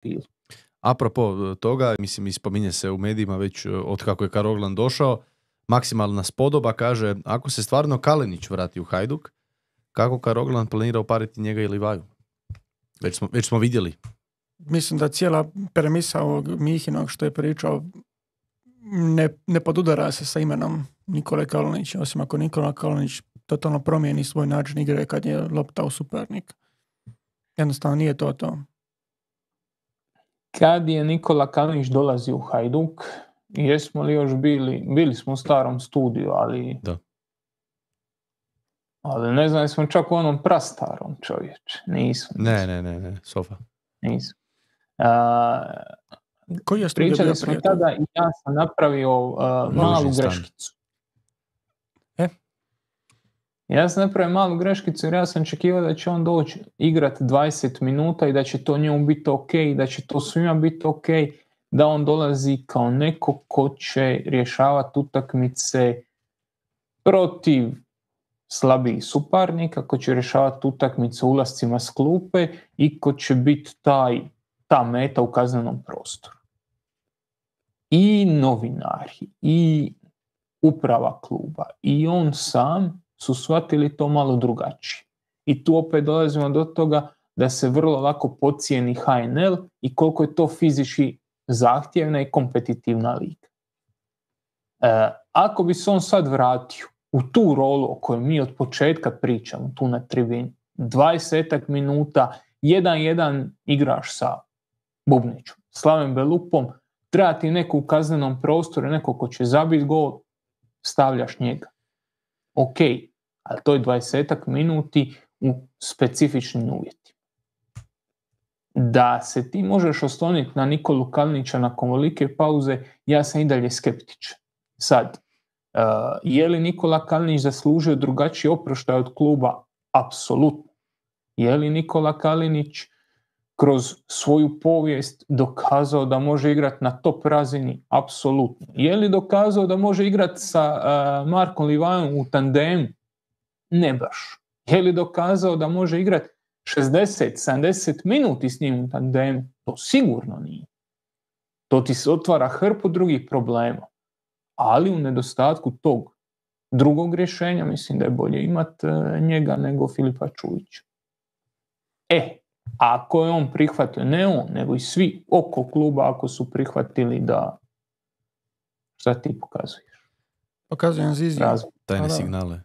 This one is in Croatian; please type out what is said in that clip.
profilu. Apropo toga, mislim, ispominje se u medijima već od kako je Karoglan došao, maksimalna spodoba kaže, ako se stvarno Kalinić vrati u Hajduk, kako Karoglan planira upariti njega i Livaju? Već smo vidjeli. Mislim da cijela premisa ovog Mihinog što je pričao ne podudara se sa imenom Nikole Kalinića, osim ako Nikola Kalinić totalno promijeni svoj način igre kad je lopta u suparnik. Jednostavno nije to. Kad je Nikola Kalinić dolazi u Hajduk, jesmo li još bili smo u starom studiju, ali da. Ali ne znam, smo čak u onom prastarom, čovječe. Nismo. Ne, sofa. Nismo. Koji je studio pričali bio smo prijatelj? tada i ja sam napravio malu greškicu. Ja sam napravio malu greškicu jer ja sam očekivao da će on doći igrati 20 minuta i da će to njemu biti ok, da će to svima biti ok, da on dolazi kao neko ko će rješavati utakmice protiv slabijih suparnika, ko će rješavati utakmice ulascima s klupe i ko će biti ta meta u kaznenom prostoru. I novinari, i uprava kluba, i on sam su shvatili to malo drugačije. I tu opet dolazimo do toga da se vrlo lako podcijeni HNL i koliko je to fizički zahtjevna i kompetitivna liga. Ako bi se on sad vratio u tu rolu o kojoj mi od početka pričamo, tu na tribini, 20 minuta, 1-1 igraš sa Bubnićom, Slaven Belupom, treba ti neko u kaznenom prostoru, neko ko će zabiti gol, stavljaš njega. Ok, ali to je 20 minuti u specifičnim uvjetima. Da se ti možeš osloniti na Nikolu Kalinića nakon velike pauze, ja sam i dalje skeptičan. Sad, je li Nikola Kalinić zaslužio drugačiji oproštaj od kluba? Apsolutno. Je li Nikola Kalinić kroz svoju povijest dokazao da može igrati na top razini? Apsolutno. Je li dokazao da može igrati sa Markom Livajom u tandemu? Ne baš. Je li dokazao da može igrati 60-70 minuti s njim u tandemu? To sigurno nije. To ti se otvara hrpu drugih problema. Ali u nedostatku tog drugog rješenja mislim da je bolje imati njega nego Filipa Čujića. Ako je on prihvatio, ne on, nego i svi oko kluba ako su prihvatili da... Šta ti pokazuješ? Pokazujem Zizi. Tajne signale.